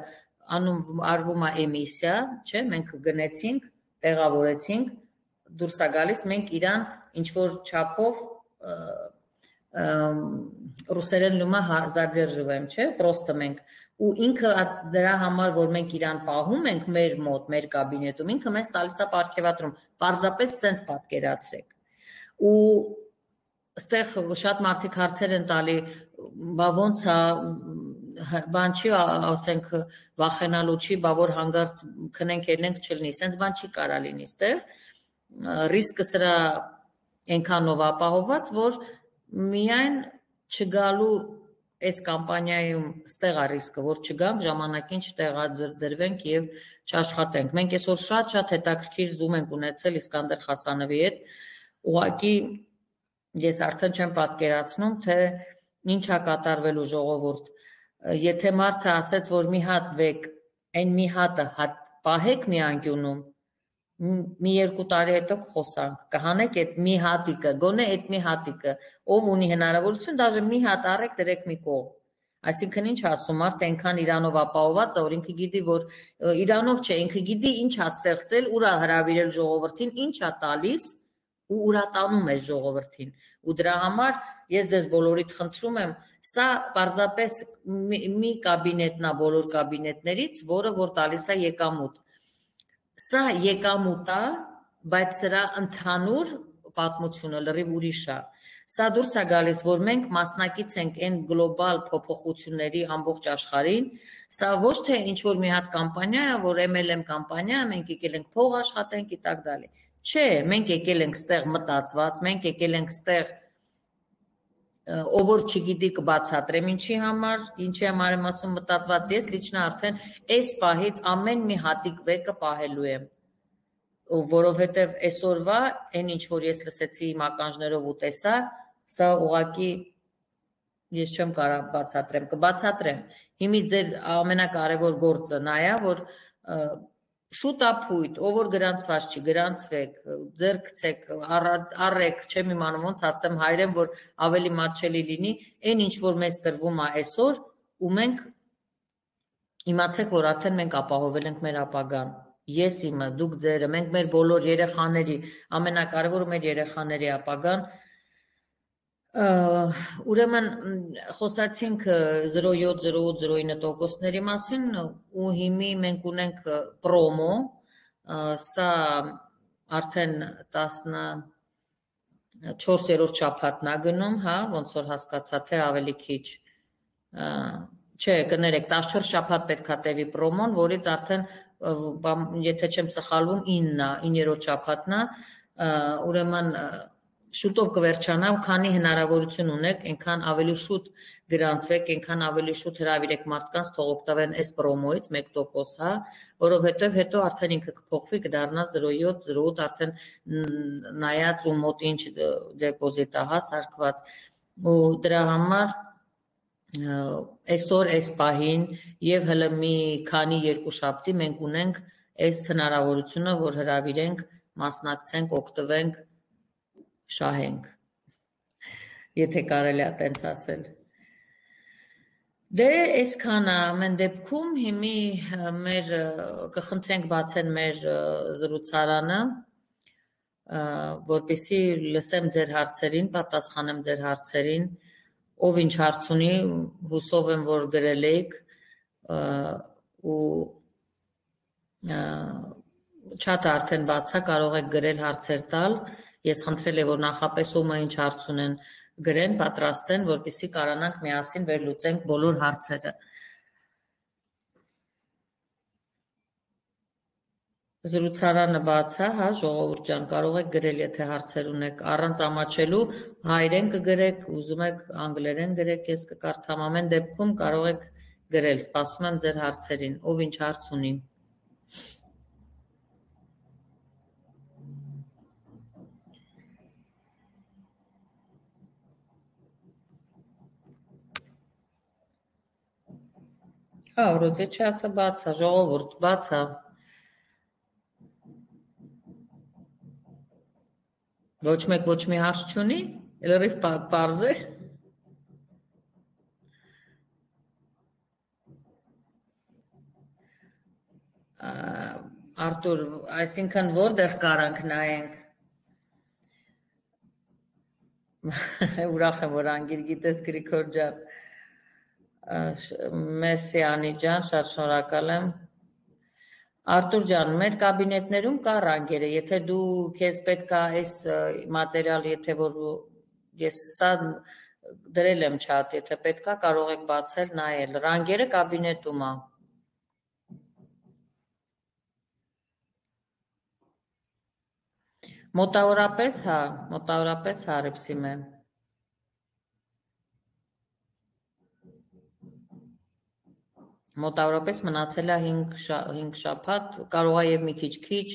անում արվում է էմիսիա, չէ, մենք գնեցինք, տեղավորեցինք, դուրս է գալիս, մենք իրան ինչ որ չափով ռուսերեն լումա задерживаем, չէ, պրոստը մենք ու ինքը դրա համար, որ մենք իրան պահում ենք մեր մոտ, մեր կաբինետում, ինքը մեզ տալիս է պարգևատրում, պարզապես սենց պատկերացրեք։ Ու ստեղ շատ մարդիկ հարցեր են տալի, բա ոնց է, բան չի, ասենք, վախենալու չի, բա որ հանգարց քնենք ելնենք չլինի, սենց բան չի կարա լինի ստեղ, ռիսկը սրա այնքանով ապահովված, որ միայն չգալու այս կամպանիայում ստեղ է ռիսկը, որ չգանք, ժամանակին չտեղադրվենք և չաշխատենք։ Մենք այսօր շատ-շատ հետաքրքիր զում ենք ունեցել Իսկանդեր Խասանովի հետ, ուղղակի ես արդեն չեմ պատկերացնում, թե ինչ է կատարվելու ժողովուրդ։ Եթե մարդը ասեց, որ մի հատ վեք, այն մի հատը պահեք մի անկյունում, մի երկու տարի հետո կխոսանք, կհանեք այդ մի հատիկը, գոնե այդ մի հատիկը, ով ունի հնարավորություն, դաժե մի հատ առեք դրեք մի կողմ։ Այսինքն ինչ ասում, մարդը այնքան իրանով ապահոված է, որ ինքը գիտի, որ իրանով չէ, ինքը գիտի ինչ է ստեղծել, ուր է հրավիրել ժողովրդին, ինչ է տալիս ու ուր է տանում է ժողովրդին։ Ու դրա համար ես ձեզ բոլորիդ խնդրում եմ, սա պարզապես մի կաբինետնա բոլոր կաբինետներից, որը որ տալիս է եկամուտ։ Սա եկամուտ է, բայց սրա ընդհանուր պատմությունը լրիվ ուրիշ է։ Սա դուրս է գալիս, որ մենք մասնակից ենք այն գլոբալ փոփոխությունների ամբողջ աշխարհին, սա ոչ թե ինչ-որ մի հատ կամպանիա է, որ էմ էլ էմ կամպանիա է, մենք եկել ենք փող աշխատենք и так далее։ Չէ, մենք եկել ենք ստեղ մտածված, մենք եկել ենք ստեղ ով որ չգիտի կբացատրեմ ինչի համար, ինչի համար եմ ասում մտածված, ես լիչնա արդեն այս պահից ամեն մի հատիկ վեկը պահելու եմ։ որովհետև այսօրվա այն ինչ որ ես լսեցի իմ ականջներով ու տեսա, սա ուղղակի ես չեմ կարող բացատրեմ, կբացատրեմ։ Հիմի ձեր ամենակարևոր գործը նա է, որ շուտ ապույտ, ով որ գրանցված չի, գրանցվեք, ձեր գցեք, առեք, չեմ իմանում ոնց ասեմ հայերեն, որ ավելի մատչելի լինի, այն ինչ որ մեզ տրվում է այսօր, ու մենք իմացեք, որ արդեն մենք ապահովել ենք մեր ապագան։ Ես իմը, դուք ձերը, մենք մեր բոլոր երեխաների, ամենակարևորը մեր երեխաների ապագան։ Ուրեմն խոսացինք զրո յոթ զրո ութ զրո ինը տոկոսների մասին ու հիմի մենք ունենք պրոմո, սա արդեն տասնչորսերորդ շաբաթն է գնում, հա, ոնց որ հասկացա, թե ավելի քիչ, չէ, կներեք, տասնչորս շաբաթ պետք է տևի պրոմոն, որից արդեն, եթե չեմ սխալվում, իններորդ շաբաթն է, ուրեմն շուտով կվերջանա, քանի հնարավորություն ունեք, այնքան ավելի շուտ գրանցվեք, այնքան ավելի շուտ հրավիրեք մարդկանց, թող օգտվեն այս պրոմոից մեկ տոկոս, հա, որովհետև հետո արդեն ինքը կփոխվի, կդառնա զրո յոթ զրո ութ, արդեն նայած ու մոտ ինչ դեպոզիտ է, հա, սարքված, ու դրա համար այսօր այս պահին եւ հələ մի քանի երկուշաբթի մենք ունենք այս հնարավորությունը, որ հրավիրենք, մասնակցենք, օգտվենք, շահենք, եթե կարելի է տենց ասել։ Դե այսքանը ամեն դեպքում հիմի մեր կխնդրենք բացեն մեր զրուցարանը, որպեսզի լսեմ ձեր հարցերին, պատասխանեմ ձեր հարցերին, ով ինչ հարց ունի, հուսով եմ, որ գրել եք ու չաթը արդեն բաց է, կարող եք գրել հարցեր տալ, ես խնդրել եմ, որ նախապես ումը ինչ հարց ունեն գրեն, պատրաստեն, որպեսզի կարողանանք միասին վերլուծենք բոլոր հարցերը։ Զրուցարանը բաց է, հա, ժողովուրդ ջան, կարող եք գրել, եթե հարցեր ունեք, առանց ամաչելու, հայերեն կգրեք, ուզում եք անգլերեն գրեք, ես կկարդամ, ամեն դեպքում կարող եք գրել, սպասում եմ ձեր հարցերին, ով ինչ հարց ունի։ Հա, որոց է չաթը բաց է, ժողովուրդ բաց է։ Ոչ մեկ ոչ մի հարց չունի, լրիվ պարզ էր։ Արտուր, այսինքն որտեղ կարանք նայենք։ Ուրախ եմ, որ անգիր գիտես Գրիգոր ջան։ Մերսի Անի ջան, շատ շնորհակալ եմ։ Արտուր ջան, մեր կաբինետներում կա ռանգերը, եթե դու քեզ պետք է այս մատերիալ, եթե որ ես սա դրել եմ չաթ, եթե պետք է կարող եք բացել, նայել, ռանգերը կաբինետում է։ Մոտավորապես, հա, մոտավորապես հարեպսիմ է։ Մոտավորապես մնացել է հինգ շաբաթ, կարող է եւ մի քիչ քիչ,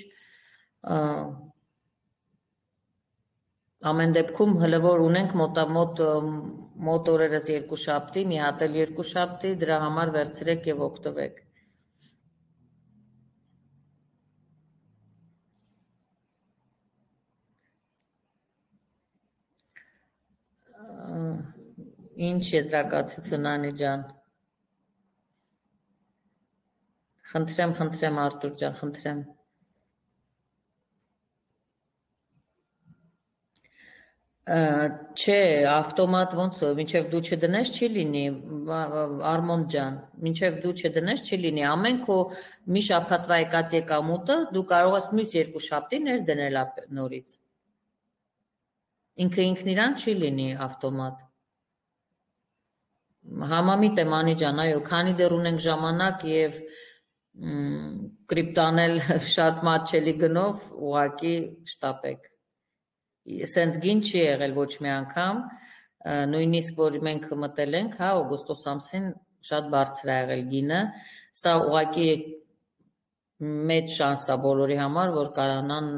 ամեն դեպքում հələ որ ունենք մոտամոտ մոտ օրերս երկու շաբթի, մի հատ էլ երկու շաբթի, դրա համար վերցրեք եւ օգտվեք։ Ինչ եզրակացություն Անի ջան։ Խնդրեմ, խնդրեմ Արտուր ջան, խնդրեմ։ Չէ, ավտոմատ ոնց է, մինչև դու չդնես չի լինի, Արմոն ջան, մինչև դու չդնես չի լինի, ամեն քո մի շաբաթվա եկած եկամուտը դու կարող ես մյուս երկու շաբթի ներդնել նորից։ Ինքը ինքն իրան չի լինի ավտոմատ։ Համամիտ եմ Անի ջան, այո, քանի դեռ ունենք ժամանակ եւ կրիպտանել շատ մատչելի գնով, ուղղակի շտապեք։ Սենց գին չի եղել ոչ մի անգամ, նույնիսկ որ մենք մտել ենք, հա, օգոստոս ամսին շատ բարձր է եղել գինը, սա ուղղակի մեծ շանս է բոլորի համար, որ կարողանան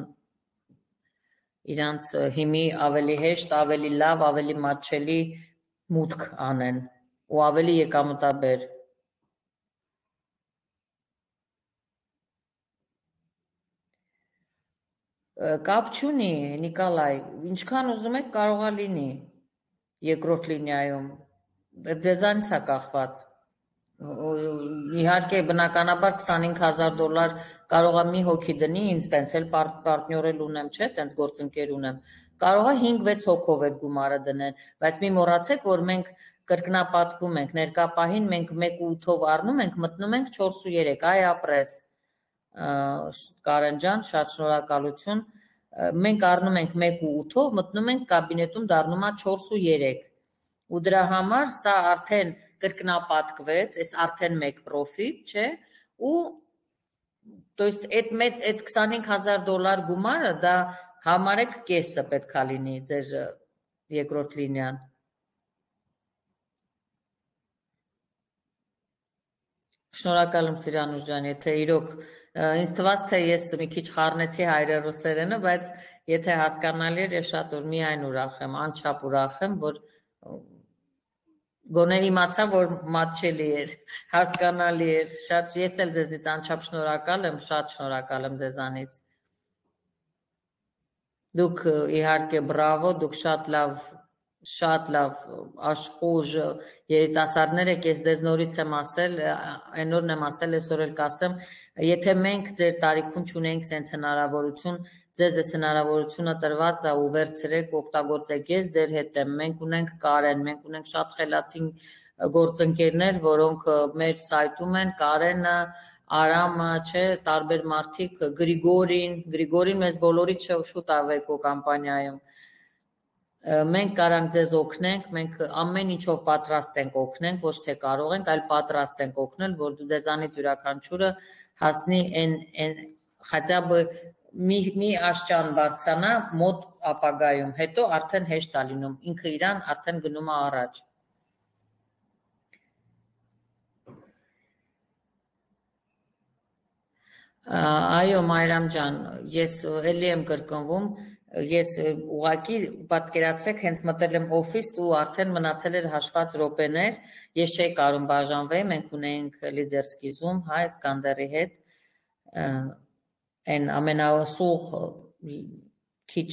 իրանց հիմի ավելի հեշտ, ավելի լավ, ավելի մատչելի մուտք անեն ու ավելի եկամտաբեր։ Կապ չունի, Նիկոլայ, ինչքան ուզում եք կարող է լինի երկրորդ լինիայում, ձեզանից է կախված։ Իհարկե բնականաբար քսանհինգ հազար դոլար կարող է մի հոգի դնի, ինձ տենց էլ պարտներել ունեմ, չէ, տենց գործընկեր ունեմ, կարող է հինգ-վեց հոգով այդ գումարը դնեն, բայց մի մոռացեք, որ մենք կրկնապատկում ենք, ներկա պահին մենք մեկ ու ութով առնում ենք, մտնում ենք չորս ու երեք, այ ապրես, Կարեն ջան, շատ շնորհակալություն, մենք առնում ենք մեկ ու ութով, մտնում ենք կաբինետում դառնում է չորս ու երեք, ու դրա համար սա արդեն կրկնապատկվեց, այս արդեն մեկ պրոֆիտ, չէ, ու то есть այդ մեծ այդ քսանհինգ հազար դոլար գումարը դա համարեք կեսը պետք է լինի ձեր երկրորդ լինիան։ Շնորհակալ եմ Սիրանուշ ջան, եթե իրոք ինձ թվաց թե ես մի քիչ խառնեցի հայրենասերենը, բայց եթե հասկանալի էր, ես շատ որ միայն ուրախ եմ, անչափ ուրախ եմ, որ գոնե իմացա, որ մատչելի էր, հասկանալի էր, շատ ես էլ ձեզնից անչափ շնորհակալ եմ, շատ շնորհակալ եմ ձեզանից։ Դուք իհարկե բրավո, դուք շատ լավ շատ լավ աշխուժ երիտասարդներ եք, ես ձեզ նորից եմ ասել, այնօրն եմ ասել, այսօր էլ կասեմ, եթե մենք ձեր տարիքում չունենք սենց հնարավորություն, ձեզ այս հնարավորությունը տրված է ու վերցրեք, օգտագործեք, ես ձեր հետ եմ, մենք ունենք Կարեն, մենք ունենք շատ խելացի գործընկերներ, որոնք մեր սայթում են, Կարենը, Արամը, չէ, տարբեր մարդիկ, Գրիգորին, Գրիգորին մեզ բոլորից շուտ ավեկո կամպանիայում Մենք կարանք ձեզ օգնենք, մենք ամեն ինչով պատրաստ ենք օգնենք, ոչ թե կարող ենք, այլ պատրաստ ենք օգնել, որ ձեզանից յուրաքանչյուրը հասնի այն хотя бы մի մի աշճան բարձրանա մոտ ապագայում, հետո արդեն հեշտ է լինում, ինքը իրան արդեն գնում է առաջ։ Այո, Մայրամ ջան, ես էլի եմ կրկնվում, Ես ուղղակի պատկերացրեք հենց մտել եմ օֆիս ու արդեն մնացել էր հաշված րոպեներ, ես չէի կարում բաժանվեի, մենք ունեինք լիդերսկի զում, հա, Սկանդերի հետ, այն ամենասուղ քիչ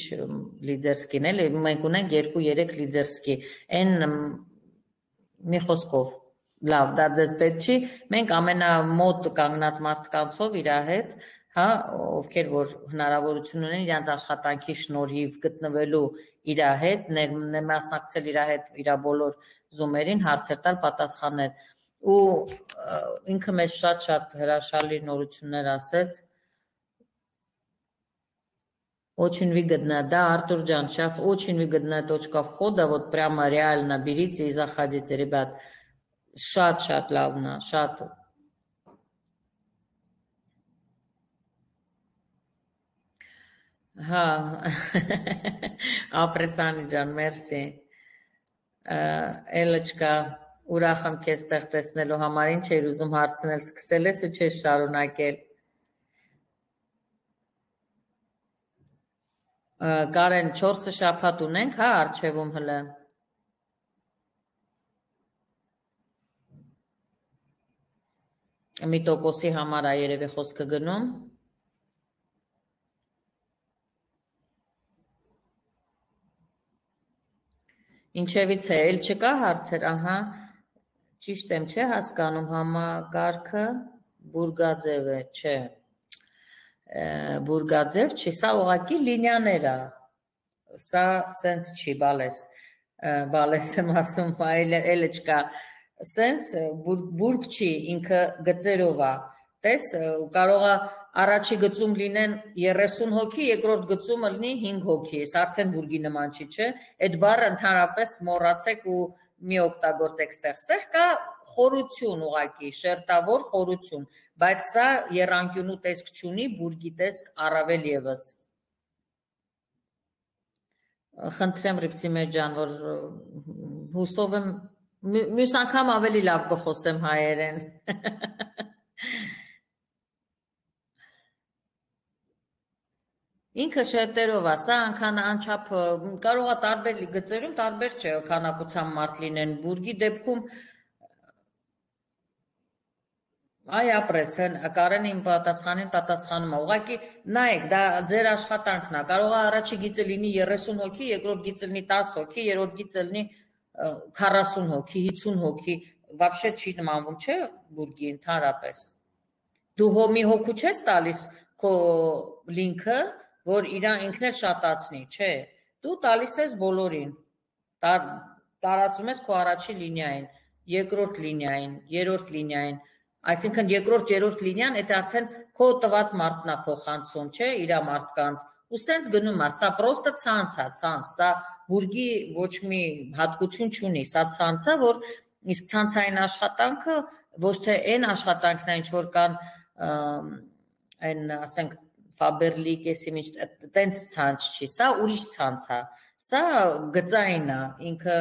լիդերսկին էլ, մենք ունենք երկու-երեք լիդերսկի, այն մի խոսքով, լավ, դա ձեզ պետք չի, մենք ամենամոտ կանգնած մարդկանցով իր հետ Հա, ովքեր որ հնարավորություն ունեն իրանց աշխատանքի շնորհիվ գտնվելու իր հետ, մասնակցել իր հետ իր բոլոր զումերին, հարցեր տալ, պատասխանել ու ինքը մեզ շատ-շատ հրաշալի նորություններ ասեց Очень выгодно, да, Артур Джан, сейчас очень выгодная точка входа, вот прямо реально берите и заходите, ребят, шат-шат лавна, шат Հա, ապրեսանի ջան, մերսի, էլը չկա, ուրախ եմ քեզ տեղ տեսնելու համար, ինչ էր ուզում հարցնել, սկսել ես ու չես շարունակել։ Կարեն, չորսը շաբաթ ունենք, հա, արջևում հլը։ Մի տոկոսի համար է երևի խոսքը գնում։ Ինչևից է, էլ չկա հարցեր, ահա, ճիշտ եմ, չէ հասկանում, համակարգը բուրգաձև է, չէ, բուրգաձև չի, սա ուղղակի լինիաներ է, սա սենց չի, բալես, բալես եմ ասում, էլ չկա, սենց բուրգ չի, ինքը գծերով է, տես, կարող է առաջի գծում լինեն երեսուն հոգի, երկրորդ գծումը լինի հինգ հոգի, ես արդեն բուրգի նման չի, չէ, այդ բառը ընդհանրապես մոռացեք ու մի օգտագործեք ստեղ, ստեղ կա խորություն ուղղակի, շերտավոր խորություն, բայց սա եռանկյունու տեսք չունի, բուրգի տեսք առավել ևս։ Խնդրեմ Ռիփսիմե ջան, որ հուսով եմ, մյուս անգամ ավելի լավ կխոսեմ հայերեն։ Ինքը շերտերով է, սա անգան անչափ կարող է տարբեր գծերում տարբեր չէ քանակությամբ մարդ լինեն, բուրգի դեպքում այ ապրես, Կարենը իմ պատասխանին պատասխանում է, ուղղակի նայեք, դա ձեր աշխատանքն է, կարող է առաջի գիծը լինի երեսուն հոգի, երկրորդ գիծը լինի տասը հոգի, երրորդ գիծը լինի քառասուն հոգի, հիսուն հոգի, вообще չի նմանվում, չէ, բուրգի ընդհանրապես։ Դու հո մի հոգու չես տալիս քո լինքը, որ իրան ինքն էլ շատացնի, չէ, դու տալիս ես բոլորին, տարածում ես քո առաջի լինիային, երկրորդ լինիային, երրորդ լինիային, այսինքն երկրորդ, երրորդ լինիան, այդ արդեն քո տված մարդն է փոխանցում, չէ, իր մարդկանց, ու սենց գնում է, սա պրոստը ցանց է, ցանց, սա բուրգի ոչ մի հատկություն չունի, սա ցանց է, որ իսկ ցանցային աշխատանքը ոչ թե այն աշխատանքն է, ինչ որ կան այն, ասենք, Faberlic-եսի միշտ տենց ցանց չի, սա ուրիշ ցանց է, սա գծային է, ինքը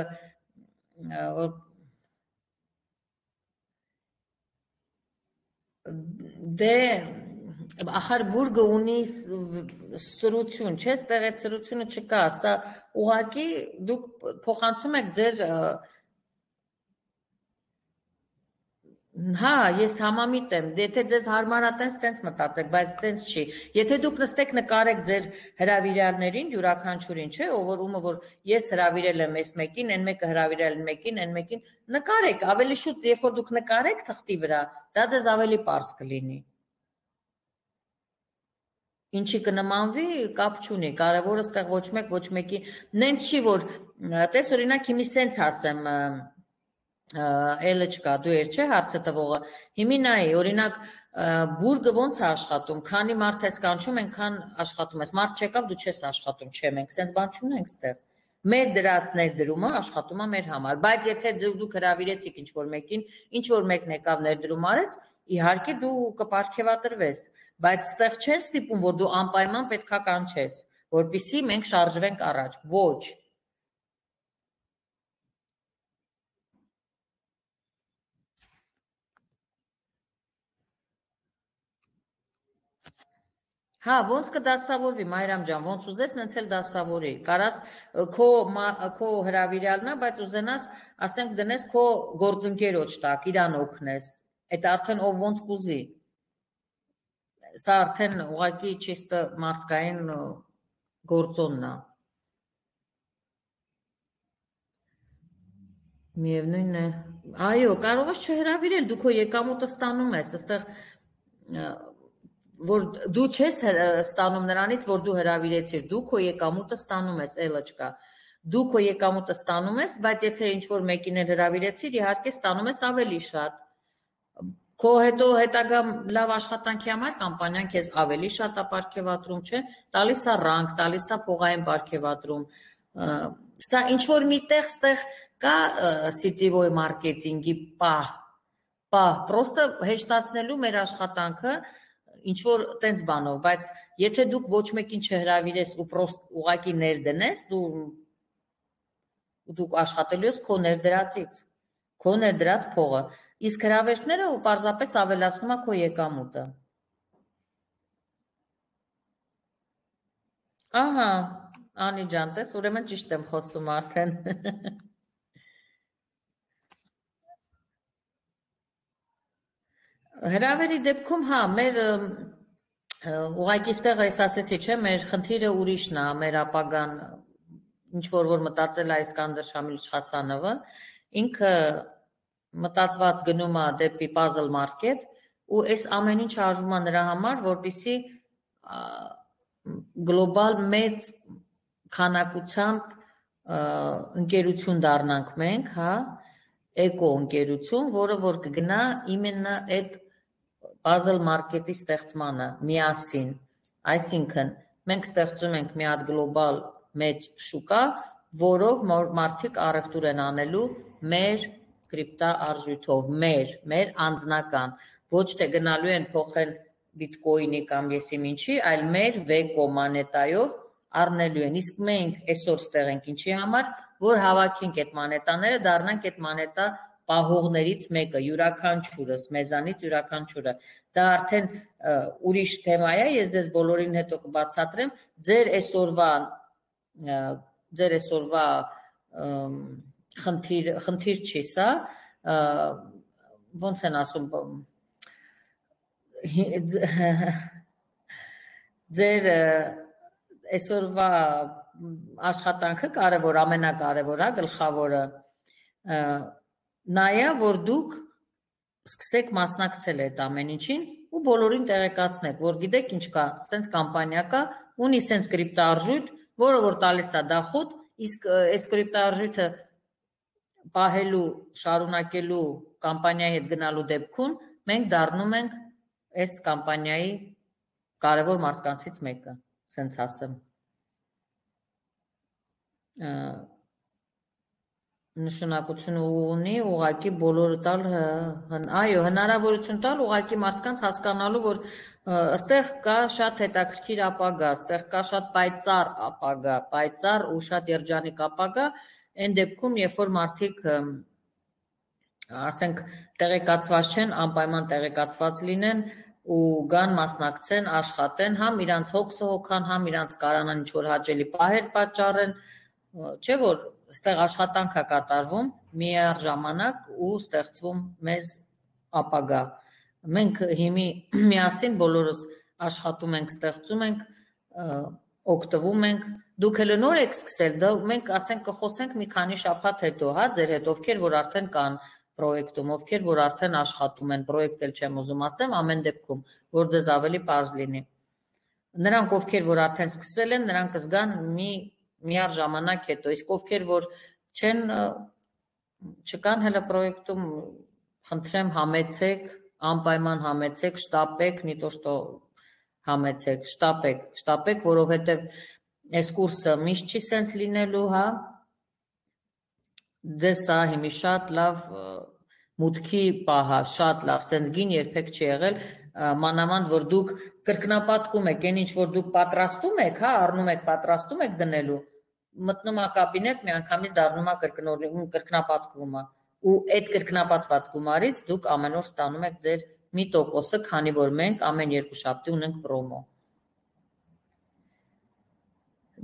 դե ախր բուրգը ունի սրություն, չէ, ստեղ այդ սրությունը չկա, սա ուղղակի դուք փոխանցում եք ձեր Հա, ես համամիտ եմ, եթե ձեզ հարմար է տենց տենց մտածեք, բայց տենց չի, եթե դուք նստեք նկարեք ձեր հրավիրյալներին, յուրաքանչյուրին, չէ, ովորումը, որ ես հրավիրել եմ այս մեկին, այն մեկը հրավիրել մեկին, այն մեկին, նկարեք, ավելի շուտ, երբ որ դուք նկարեք թղթի վրա, դա ձեզ ավելի պարզ կլինի։ Ինչի կնմանվի, կապ չունի, կարևորը ստեղ ոչ մեկ, ոչ մեկի, նենց չի, որ, տես օրինակ հիմի սենց ասեմ, Էլը չկա, դու էր չէ հարցը տվողը, հիմի նայի, օրինակ բուրգը ոնց է աշխատում, քանի մարդ ես կանչում, այնքան աշխատում ես, մարդ չեկավ, դու չես աշխատում, չէ, մենք սենց բան չունենք ստեղ, մեր դրած ներդրումը աշխատում է մեր համար, բայց եթե դուք հրավիրեցիք ինչ-որ մեկին, ինչ-որ մեկն եկավ ներդրում արեց, իհարկե դու կպարգևատրվես, բայց ստեղ չեն ստիպում, որ դու անպայման պետքա կանչես, որպեսզի մենք շարժվենք առաջ, ոչ Հա, ոնց կդասավորվի, Մայրամ ջան, ոնց ուզես, նենց էլ դասավորի, կարաս քո հրավիրյալն է, բայց ուզենաս, ասենք դնես քո գործընկերոջ տակ, իրան օգնես, այդ արդեն ով ոնց կուզի, սա արդեն ուղղակի ճիշտ մարդկային գործոնն է, միևնույն է, այո, կարող ես չհրավիրել, դու քո եկամուտը ստանում ես, այստեղ որ դու չես ստանում նրանից, որ դու հրավիրեցիր, դու քո եկամուտը ստանում ես, էլը չկա, դու քո եկամուտը ստանում ես, բայց եթե ինչ-որ մեկին էլ հրավիրեցիր, իհարկե ստանում ես ավելի շատ, քո հետո հետագա լավ աշխատանքի համար կամպանիան քեզ ավելի շատ է պարգևատրում, չէ, տալիս է ռանկ, տալիս է փողային պարգևատրում, սա ինչ-որ միտեղ ստեղ կա սիտիվոյ մարքեթինգի պահ, պահ, պրոստը հեշտացնելու մեր աշխատանքը, ինչ-որ տենց բանով, բայց եթե դուք ոչ մեկին չհրավիրես ու պրոստ ուղակի ներդնես, դուք աշխատելու ես քո ներդրածից, քո ներդրած փողը, իսկ հրավերները ու պարզապես ավելացնում է քո եկամուտը։ Ահա, Անի ջան, տես, ուրեմն ճիշտ եմ խոսում արդեն։ Հրավերի դեպքում, հա, մեր ուղղակի ստեղ ես ասեցի, չէ, մեր խնդիրը ուրիշն է, մեր ապագան, ինչ-որ որ մտածել է Իսկանդր Շամիլիչ Խասանովը, ինքը մտածված գնում է դեպի Puzzle Market ու այս ամեն ինչ արվում է նրա համար, որպեսզի գլոբալ մեծ քանակությամբ ընկերություն դառնանք մենք, հա, էկո ընկերություն, որը որ կգնա իմենը այդ Puzzle Market-ի ստեղծմանը միասին, այսինքն մենք ստեղծում ենք մի հատ գլոբալ մեծ շուկա, որով մարդիկ առևտուր են անելու մեր կրիպտա արժույթով, մեր, մեր անձնական, ոչ թե գնալու են փոխել բիտկոյնի կամ եսիմ ինչի, այլ մեր վեկո մանետայով առնելու են, իսկ մենք այսօր ստեղ ենք ինչի համար, որ հավաքենք այդ մանետաները, դառնանք այդ մանետա պահողներից մեկը, յուրաքանչյուրս, մեզանից յուրաքանչյուրը, դա արդեն ուրիշ թեմա է, ես դες բոլորին հետո կբացատրեմ, ձեր այսօրվա ձեր այսօրվա խնդիր խնդիր չի սա, ոնց են ասում ձեր այսօրվա աշխատանքը կարևոր, ամենակարևորը, գլխավորը նայա, որ դուք սկսեք մասնակցել այդ ամեն ինչին ու բոլորին տեղեկացնեք, որ գիտեք ինչ կա, սենց կամպանիա կա, ունի սենց կրիպտոարժույթ, որը որ տալիս է դախոտ, իսկ այս կրիպտոարժույթը պահելու, շարունակելու կամպանիայի հետ գնալու դեպքում մենք դառնում ենք այս կամպանիայի կարևոր մարդկանցից մեկը, սենց ասեմ։ Նշանակություն ունի ուղղակի բոլորը տալ, այո, հնարավորություն տալ ուղղակի մարդկանց հասկանալու, որ այստեղ կա շատ հետաքրքիր ապագա, այստեղ կա շատ պայծառ ապագա, պայծառ ու շատ երջանիկ ապագա, այն դեպքում, երբ որ մարդիկ ասենք տեղեկացված չեն, անպայման տեղեկացված լինեն ու գան մասնակցեն, աշխատեն, համ իրանց հոգսը հոգան, համ իրանց կարանան ինչ-որ հաճելի պահեր պատճառեն, չէ՞ որ այստեղ աշխատանք է կատարվում միաժամանակ ու ստեղծվում մեզ ապագա։ Մենք հիմի միասին բոլորս աշխատում ենք, ստեղծում ենք, օգտվում ենք, դուք էլ նոր եք սկսել, դա մենք ասենք կխոսենք մի քանի շաբաթ հետո, հա, ձեր հետ, ովքեր որ արդեն կան պրոյեկտում, ովքեր որ արդեն աշխատում են, պրոյեկտ էլ չեմ ուզում ասեմ, ամեն դեպքում, որ ձեզ ավելի պարզ լինի։ Նրանք, ովքեր որ արդեն սկսել են, նրանք կզգան մի միաժամանակ հետո, իսկ ովքեր որ չեն չկան հələ պրոյեկտում, խնդրեմ համեցեք, անպայման համեցեք, շտապեք, не то что համեցեք, շտապեք, շտապեք, որովհետև այս կուրսը միշտ չի սենց լինելու, հա։ Ձեզ սա հիմի շատ լավ մուտքի պահա, շատ լավ, սենց գին երբեք չի եղել, մանավանդ որ դուք կրկնապատկում եք, այն ինչ որ դուք պատրաստում եք, հա, առնում եք, պատրաստում եք դնելու, մտնում է կաբինետ, միանգամից դառնում է կրկնապատկումը, ու այդ կրկնապատված գումարից դուք ամեն օր ստանում եք ձեր մի տոկոսը, քանի որ մենք ամեն երկու շաբթի ունենք պրոմո։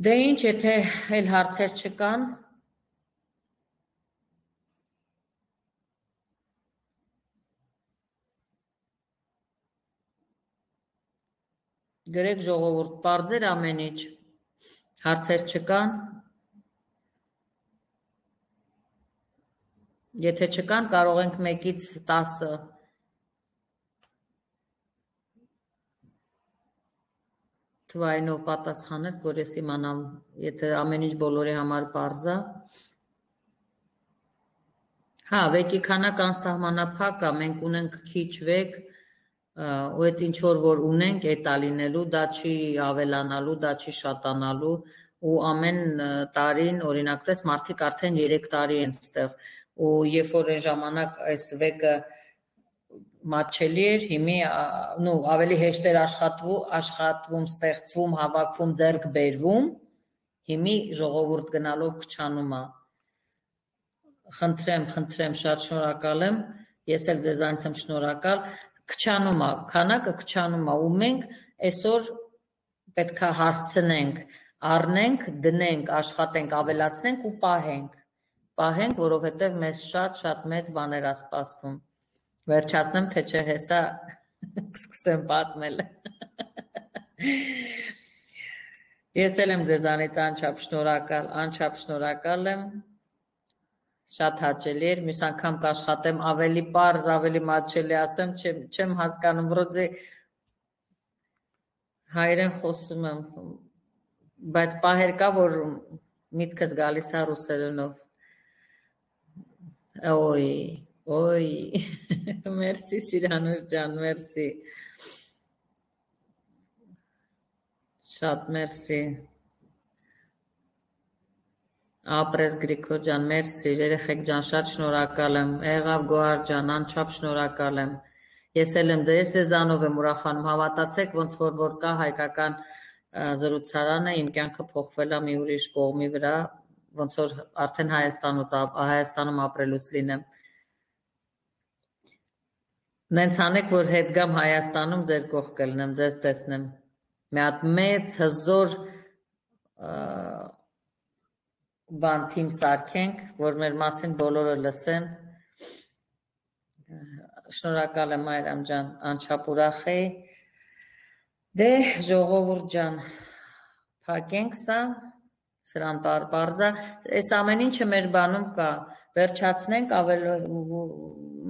Դե ինչ, եթե այլ հարցեր չկան, գրեք ժողովուրդ, պարզեր ամեն ինչ, հարցեր չկան, եթե չկան, կարող ենք մեկից տասը թվայինով պատասխանել, որ ես իմանամ, եթե ամեն ինչ բոլորի համար պարզ է։ Հա, վեկի քանակ անսահմանափակ է, մենք ունենք քիչ վեք, ու այդ ինչ որ որ ունենք, այդ ալինելու, դա չի ավելանալու, դա չի շատանալու, ու ամեն տարին, օրինակ տես, մարդիկ արդեն երեք տարի են ստեղ, ու երբ որ այն ժամանակ այս վեկը մատչելի էր, հիմի ավելի հեշտ էր աշխատվում, ստեղծվում, հավաքվում, ձեռք բերվում, հիմի ժողովուրդ գնալով քչանում է։ Խնդրեմ, խնդրեմ, շատ շնորհակալ եմ, ես էլ ձեզանից եմ շնորհակալ, քչանում է, քանակը քչանում է, ու մենք այսօր պետք է հասցնենք, առնենք, դնենք, աշխատենք, ավելացնենք ու պահենք, պահենք, որովհետև մեզ շատ-շատ մեծ բաներ է սպասվում։ Վերջացնեմ, թե չէ հեսա կսկսեմ պատմել։ Ես էլ եմ ձեզանից անչափ շնորհակալ, անչափ շնորհակալ եմ, շատ հաճելի էր, մյուս անգամ կաշխատեմ ավելի պարզ, ավելի մատչելի ասեմ, չեմ հասկանում, վրոձի հայերեն խոսում եմ, բայց պահեր կա, որ միտքս գալիս է ռուսերենով։ Ոյ, ոյ, մերսի Սիրանուշ ջան, մերսի, շատ մերսի, ապրես Գրիգոր ջան, մերսի, երեխեք ջան, շատ շնորհակալ եմ, եղավ Գոհար ջան, անչափ շնորհակալ եմ, ես էլ եմ ձեզ ձեզանով եմ ուրախանում, հավատացեք, ոնց որ որ կա հայկական զրուցարանը, իմ կյանքը փոխվել է մի ուրիշ կողմի վրա, ոնց որ արդեն Հայաստանում ապրելուց լինեմ, Նենց անեք, որ հետ գամ Հայաստանում ձեր կողք կլնեմ, ձեզ տեսնեմ։ Մի հատ մեծ հզոր բան թիմ սարքենք, որ մեր մասին բոլորը լսեն։ Շնորհակալ եմ Այրամ ջան, անչափ ուրախ էի։ Դե ժողովուրդ ջան, փակենք սա, սրան պարզա, այս ամեն ինչը մեր բանում կա, վերջացնենք ավել,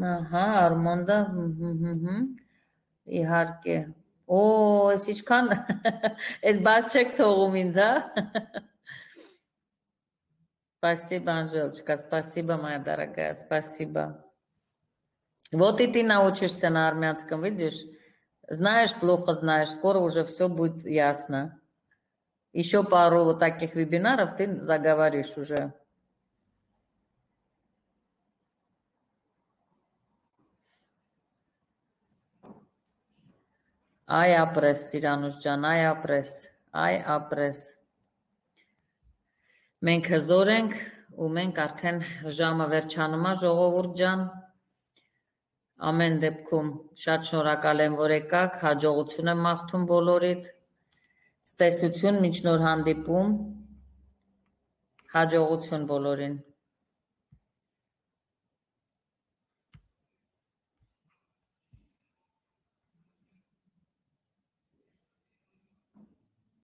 հա, Արմոնդը, իհարկե, օ, այս ինչքան, այս բաց չեք թողում ինձ, հա, спасибо, Анжелочка, спасибо, моя дорогая, спасибо. Вот и ты научишься на армянском, видишь? Знаешь, плохо знаешь, скоро уже все будет ясно. Еще пару вот таких вебинаров ты заговоришь уже. Ay ապրես, Սիրանուս ջան, ay ապրես, ay ապրես։ Մենք հզոր ենք ու մենք արդեն ժամը վերջանում է, ժողովուրդ ջան։ Ամեն դեպքում շատ շնորհակալ եմ, որ եկաք, հաջողություն եմ մաղթում բոլորիդ։ Ցտեսություն, մինչ նոր հանդիպում, հաջողություն բոլորին։